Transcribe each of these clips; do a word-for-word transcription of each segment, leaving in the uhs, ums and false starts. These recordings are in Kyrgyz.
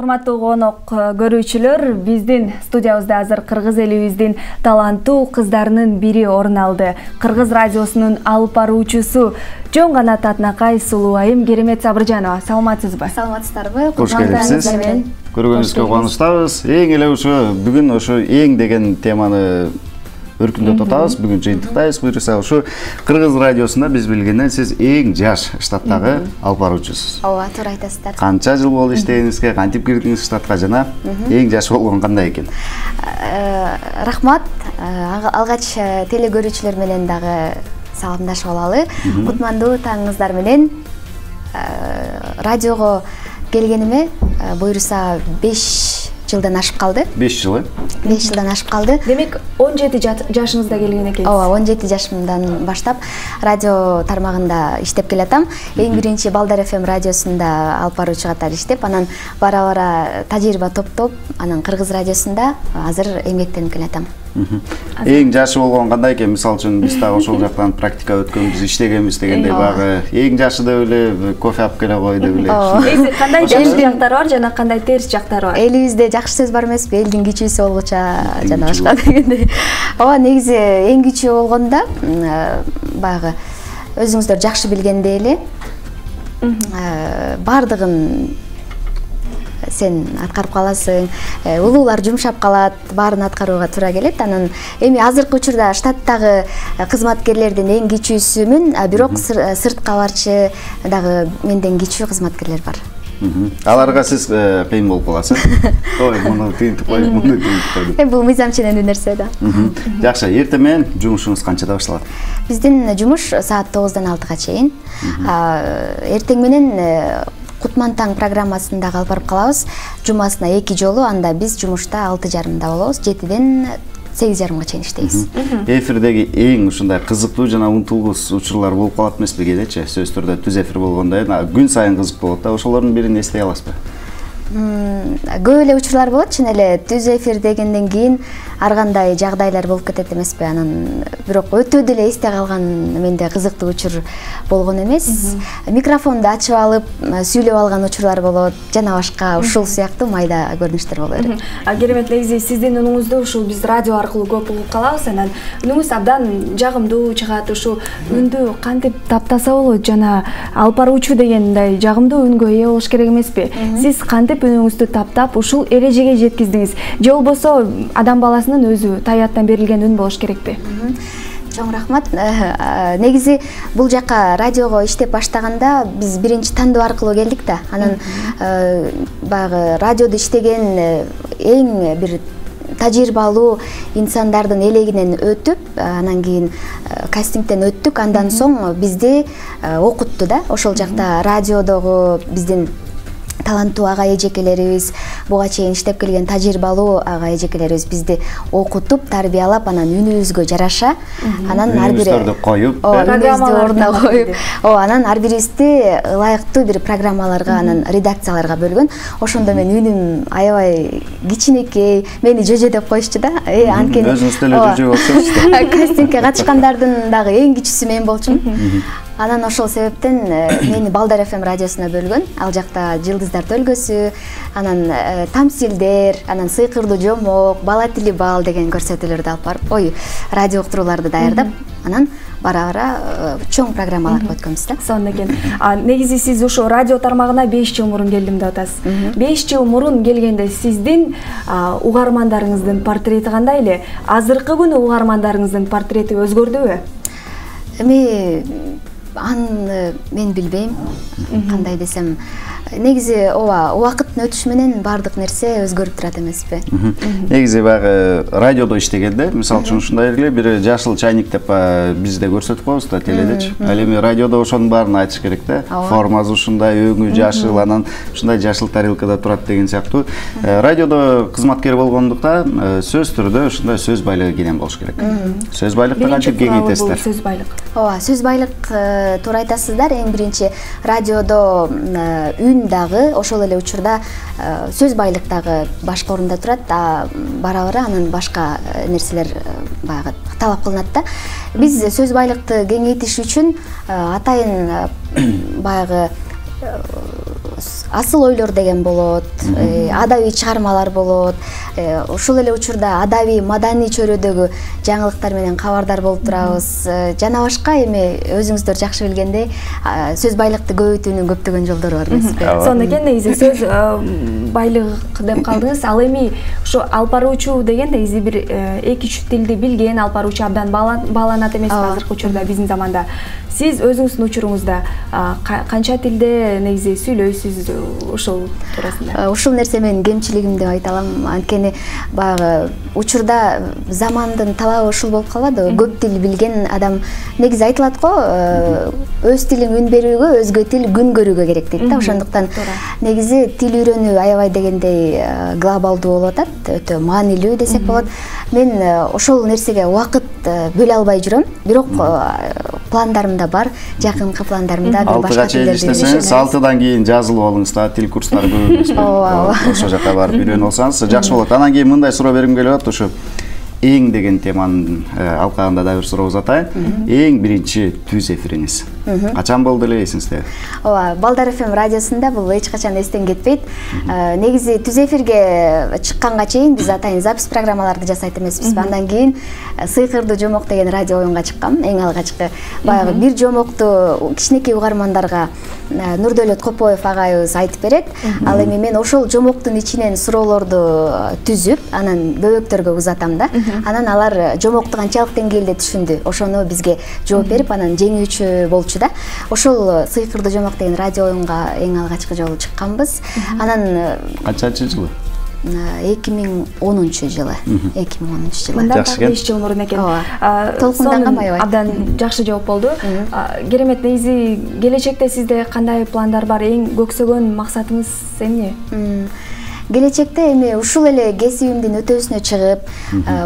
Урматтуу конок көрүүчүлөр, биздин студиябызда азыр кыргыз элибиздин таланттуу кыздарынын бири орун алды. Кыргыз радиосунун алып баруучусу Жон Канат Атнакай сулуу айым Керемет Сабыржанова. Саламатсызбы? Саламатсыздарбы? Кош келипсиз. Көргөнүңүзгө кубанычтабыз. Эң эле ушу бүгүн ошо эң деген теманы өркүндөп атабыз. Бүгүн жыйынтыктайбыз. Буюрса ушу Кыргыз радиосунда биз билгенден сиз эң жаш штаттагы алып баруучусуз. Ооба, туура айтасыздар. Канча жыл болду иштегениңизге, кантип кирдиңиз штатка жана эң жаш болгон кандай экен? Рахмат. Алгач теле көрүүчүлөр менен дагы саламдашып алалы. Кутмандуу таңыңыздар менен. Радиого келгениме буюрса беш жылдан ашып калды. беш жыл, э? беш жылдан ашып калды. Демек, он жети жашыңызда келген экенсиз. Ооба, он жети жашымдан баштап радио тармагында иштеп келатам. Эң биринчи Балдар эф эм радиосунда алып баруучу катары иштеп, анан бара-бара тажрыйба топтоп, анан Кыргыз радиосунда азыр эмгектенип келатам. Эң жашы болгон кандай экен? Мисалы үчүн биз дагы ошол жактан практика өткөнбүз, иштегенбиз дегендей багы эң жашы деп эле кофе алып келе кой деп эле. Негизи кандай жакшы жактары бар жана кандай терс жактары бар? Элибизде жакшы сөз бар эмеспи? Элдин кичүүсү болгуча жана башка дегендей. Ооба, негизи эң кичүү болгондо баягы өзүңүздөр жакшы билгендей эле бардыгын сен аткарып каласың, улуулар жумшап калат, баарын аткарууга туура келет. Анан эми азыркы учурда штаттагы кызматкерлердин эң кичүүсүмүн, бирок сыртка барчы дагы менден кичүү кызматкерлер бар. Аларга сиз кыйын болуп каласыз. Ой, муну тыйынтып кой, муну тыйынтып кой деп. Эми бул мыйзам ченемдүү нерсе да. Жакшы, эртең менен жумушуңуз канчада башталат? Биздин жумуш саат тогуздан алтыга чейин. Эртең менен Кутман таң программасында алып барып калабыз. Жумасына эки жолу, анда биз жумушта алты жарымда болобуз, жетиден сегиз жарымга чейин иштейбиз. Эфирдеги эң ушундай кызыктуу жана унутулгус учурлар болуп калат эмеспи кээдечи? Сөзсүз түрдө түз эфир болгондо күн сайын кызык болот да. Ошолордун бирин эстей аласызбы? Көп эле учурлар болот, чын эле түз эфир дегенден кийин ар кандай жагдайлар болуп кетет эмеспи? Анан бирок өтө деле эсте калган менде кызыктуу учур болгон эмес. Микрофонду ачып алып, сүйлөп алган учурлар болот, жана башка ушул сыяктуу майда көрүнүштөр боло берет. Керемет, негизи сиздин үнүңүздү ушул биз радио аркылуу көп угуп калабыз, анан үнүңүз абдан жагымдуу чыгат. Ушу үндү кантип таптаса болот жана алып баруучу дегендей жагымдуу үнгө ээ болуш керек эмеспи? Сиз кантип үнүңүздү таптап ушул эрежеге жеткиздиңиз? Же болбосо адам баласынын өзү табияттан берилген үн болуш керекпи? Чоң рахмат. Негизи бул жака радиого иштеп баштаганда биз биринчи тандоо аркылуу келдик да. Анан баягы радиодо иштеген эң бир тажрыйбалуу инсандардын элегинен өтүп, анан кийин кастингден өттүк, андан соң бизди окутту да. Ошол жакта радиодогу биздин таланттуу ага эжекелерибиз, буга чейин иштеп келген тажрыйбалуу ага эжекелерибиз бизди окутуп, тарбиялап, анан үнүбүзгө жараша, анан ар бири Үнүбүздөрдү коюп, программаларды ордуна коюп, ооба, анан ар бирибизди ылайыктуу бир программаларга, анан редакцияларга бөлгөн. Ошондо мен үнүм аябай кичинекей, мени жөжө деп коюшчу да. Э, анткени өзүңүз деле жөжө болсоңуз. Кастингге катышкандардын дагы эң кичүүсү мен болчумун. Анан ошол себептен мени Балдар эф эм радиосуна бөлгөн. Ал жакта жылдыздар өлкөсү, анан тамсилдер, анан сыйкырдуу жомок, бала тили бал деген көрсөтүүлөрдү алып барып, ой, радио уктурууларды даярдап, анан бара-бара чоң программаларга өткөнбүз да. Сонун экен. Негизи сиз ошо радио тармагына беш жыл мурун келдим деп атасыз. беш жыл мурун келгенде сиздин угармандарыңыздын портрети кандай эле? Азыркы күнү угармандарыңыздын портрети өзгөрдүбү? Эми аны мен билбейм, кандай десем. Негизи ооба, убакыттын өтүшү менен бардык нерсе өзгөрүп турат эмеспи? Негизи баягы радиодо иштегенде, мисалы үчүн ушундай эле бир жашыл чайник деп бизде көрсөтүп коебуз да теледечи. Ал эми радиодо ошонун баарын айтыш керек да. Формасы ушундай, өңү жашыл, анан ушундай жашыл тарелкада турат деген сыяктуу. Радиодо кызматкер болгондуктан сөз түрдө ушундай сөз байлыгы кенен болуш керек. Сөз байлыкты кантип кеңейтесиздер? Сөз байлык. Ооба, сөз байлык туура айтасыздар. Эң биринчи радиодо үн дагы ошол эле учурда сөз байлык дагы башка орунда турат, бара-бара анан башка нерселер баягы талап кылынат да. Биз сөз байлыкты кеңейтиш үчүн атайын баягы асыл ойлор деген болот, адабий чыгармалар болот. Ошол эле учурда адабий маданий чөйрөдөгү жаңылыктар менен кабардар болуп турабыз. Жана башка эми өзүңүздөр жакшы билгендей сөз байлыкты көбөйтүүнүн көптөгөн жолдору бар эмеспи? Сонун экен негизи сөз байлык деп калдыңыз. Ал эми ошо алып баруучу деген негизи бир эки үч тилди билген алып баруучу абдан бааланат эмеспи азыркы учурда биздин заманда. Сиз өзүңүздүн учуруңузда канча тилде негизи сүйлөйсүз ошол туурасында? Ушул нерсе менин кемчилигим деп айта алам. Анткени баягы учурда замандын талабы ушул болуп калбады. Көп тил билген адам негизи айтылат го, өз тилиң үн берүүгө, өзгө тил күн көрүүгө керек дейт да. Ошондуктан негизи тил үйрөнүү аябай дегендей глобалдуу болуп атат, өтө маанилүү десек болот. Мен ошол нерсеге убакыт бөлө албай жүрөм. Бирок пландарымда бар, жакынкы пландарымда бир башка тилдерди иштесеңиз, алтыдан кийин жазылып алыңыз да, тил курстары көп эмес. Ооба. Ошол жака барып үйрөнүп алсаңыз жакшы болот. Анан кийин мындай суроо бергим келип атат, ушу эң деген теманын алкагында да бир суроо узатайын. Эң биринчи түз эфириңиз качан болду эле, эсиңизде? Ооба, Балдар эф эм радиосунда бул эч качан эстен кетпейт. Негизи түз эфирге чыкканга чейин биз атайын запись программаларды жасайт эмеспизби. Андан кийин Сыйкырдуу жомок деген радио оюнга чыккам, эң алгачкы. Баягы бир жомокту кичинекей угармандарга Нурдөлөт Копоев агайыбыз айтып берет. Ал эми мен ошол жомоктун ичинен суроолорду түзүп, анан бөбөктөргө узатам да. Анан алар жомокту канчалык деңгээлде түшүндү, ошону бизге жооп берип, анан жеңүүчү болчу да. Ошол Сыйкырдуу жомок деген радио оюнга эң алгачкы жолу чыкканбыз. Анан канчанчы жылы? эки миң онунчу жылы. эки миң онунчу жылы. Мындан так беш жыл мурун экен. Толкунданган аябай. Абдан жакшы жооп болду. Керемет. Негизи келечекте сизде кандай пландар бар? Эң көксөгөн максатыңыз эмне? Келечекте эми ушул эле кесибимдин өтөөсүнө чыгып,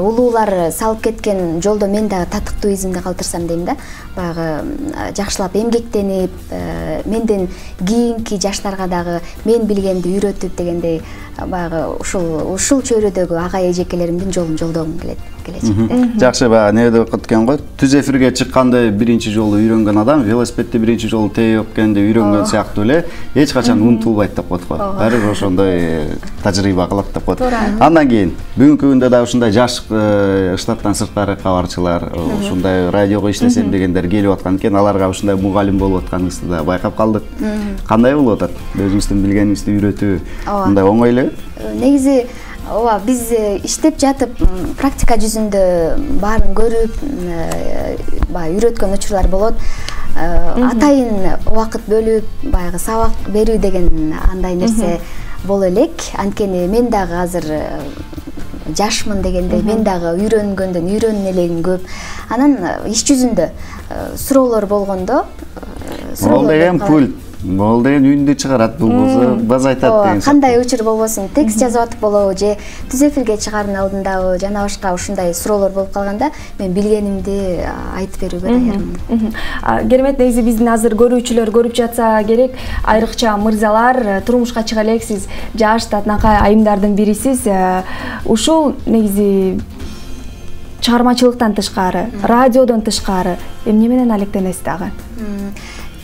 улуулар салып кеткен жолдо мен дагы татыктуу изимди калтырсам дейм да. Баягы жакшылап эмгектенип, менден кийинки жаштарга дагы мен билгенди үйрөтүп дегендей, баягы ушул ушул чөйрөдөгү агай эжекелеримдин жолун жолдогум келет келечекте. Жакшы, баягы не деп кеткен го, түз эфирге чыкканды биринчи жолу үйрөнгөн адам велосипедти биринчи жолу тээпкенде үйрөнгөн сыяктуу эле эч качан унутулбайт деп коет го. Баары ошондой тажрыйба кылат деп коет. Андан кийин бүгүнкү күндө да ушундай жаш штаттан сырткары кабарчылар, ушундай радиого иштесем дегендер келип аткан экен, аларга ушундай мугалим болуп атканыңызды да байкап калдык. Кандай болуп атат? Өзүңүздүн билгениңизди үйрөтүү мындай оңой эле? Негизи ооба, биз иштеп жатып практика жүзүндө баарын көрүп, баягы үйрөткөн учурлар болот. Атайын убакыт бөлүп, баягы сабак берүү деген андай нерсе боло элек. Анткени мен дагы азыр жашмын дегендей, мен дагы үйрөнгөндөн үйрөнүн элегим көп. Анан иш жүзүндө суроолор болгондо, Ол деген пульт, Бол деген үндү чыгарат, бул болсо баз айтат деген. Кандай учур болбосун, текст жазып атып болобу же түз эфирге чыгаардын алдындабы, жана башка ушундай суроолор болуп калганда мен билгенимди айтып берүүгө даярмын. Керемет. Негизи биздин азыр көрүүчүлөр көрүп жатса керек, айрыкча мырзалар, турмушка чыга элексиз, жаш татынакай айымдардын бирисиз. Ушул негизи чыгармачылыктан тышкары, радиодон тышкары эмне менен алектенесиз дагы?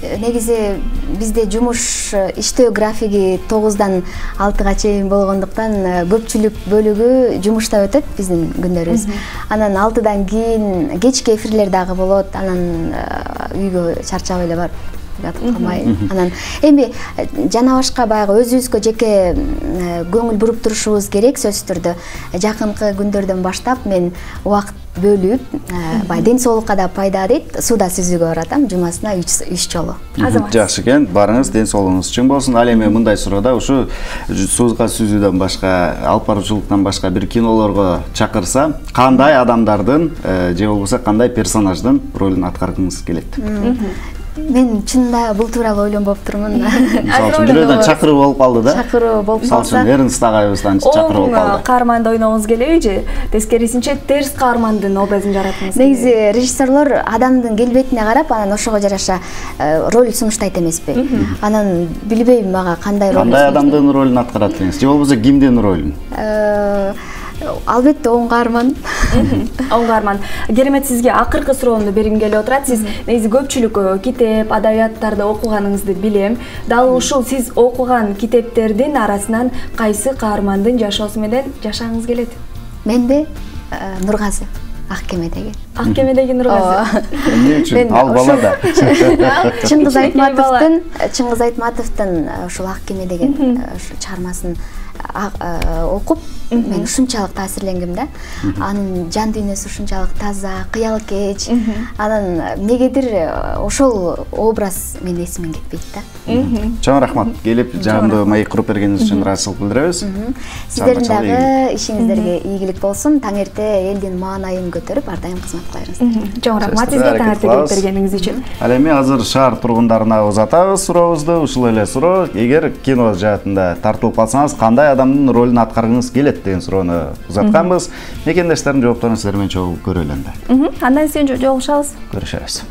Негизи бизде жумуш иштөө графиги тогуздан алтыга чейин болгондуктан көпчүлүк бөлүгү жумушта өтөт биздин күндөрүбүз. Анан алтыдан кийин кечки эфирлер дагы болот. Анан үйгө чарчап эле барып жатып калмай. Анан эми жана башка баягы өзүбүзгө жеке көңүл буруп турушубуз керек сөзсүз түрдө. Жакынкы күндөрдөн баштап мен убакыт бөлүп, бай ден соолукка да пайда дейт, сууда сүзүүгө баратам, жумасына үч жолу. Жакшы экен, барыңыз, ден соолугуңуз үчүн болсун. Ал эми мындай суроодо ушу сууда сүзүүдөн башка, алып баруучулуктан башка бир кинолорго чакырса, кандай адамдардын же болбосо кандай персонаждын ролун аткаргыңыз келет? Мен чынында бул тууралуу ойлонбоп турмун. Мисалы үчүн бирөөдөн чакыруу болуп калды да. Чакыруу болуп калса. Мисалы үчүн Эрнст агайыбыздан чакыруу болуп калды. Каарманды ойногуңуз келеби же тескерисинче терс каармандын образын жараткыңыз? Негизи режиссерлор адамдын келбетине карап, анан ошого жараша роль сунуштайт эмеспи? Анан билбейм мага кандай роль. Кандай адамдын ролун аткарат деңиз? Же болбосо кимдин ролун? Албетте оң каарман. Оң каарман. Керемет, сизге акыркы суроомду бергим келип отурат. Сиз негизи көпчүлүк китеп, адабияттарды окуганыңызды билем. Дал ушул сиз окуган китептердин арасынан кайсы каармандын жашоосу менен жашагыңыз келет? Менде Нургазы, Ак кемедеги. Ак кемедеги Нургазы. Эмне үчүн? Ал бала да. Чыңгыз Айтматовдун, Чыңгыз Айтматовдун ушул Ак кеме деген чыгармасын окуп, мен ушунчалык таасирленгем да. Анын жан дүйнөсү ушунчалык таза, кыял кеч. Анан эмнегедир ошол образ менин эсимден кетпейт да. Чоң рахмат. Келип жагымдуу маек куруп бергениңиз үчүн ыраазычылык билдиребиз. Сиздердин дагы ишиңиздерге ийгилик болсун. Таң эрте элдин маанайын көтөрүп, ар дайым кызмат кыларыңыз. Чоң рахмат сизге таң эрте келип бергениңиз үчүн. Ал эми азыр шаар тургундарына узатабыз сурообузду. Ушул эле суроо: эгер кино жаатында тартылып калсаңыз, кандай адамдын ролун аткаргыңыз келет деген суроону узатканбыз. Мекендештердин жоопторун сиздер менен чогуу көрөлү энди. Андан соң жолугушабыз. Көрүшөбүз.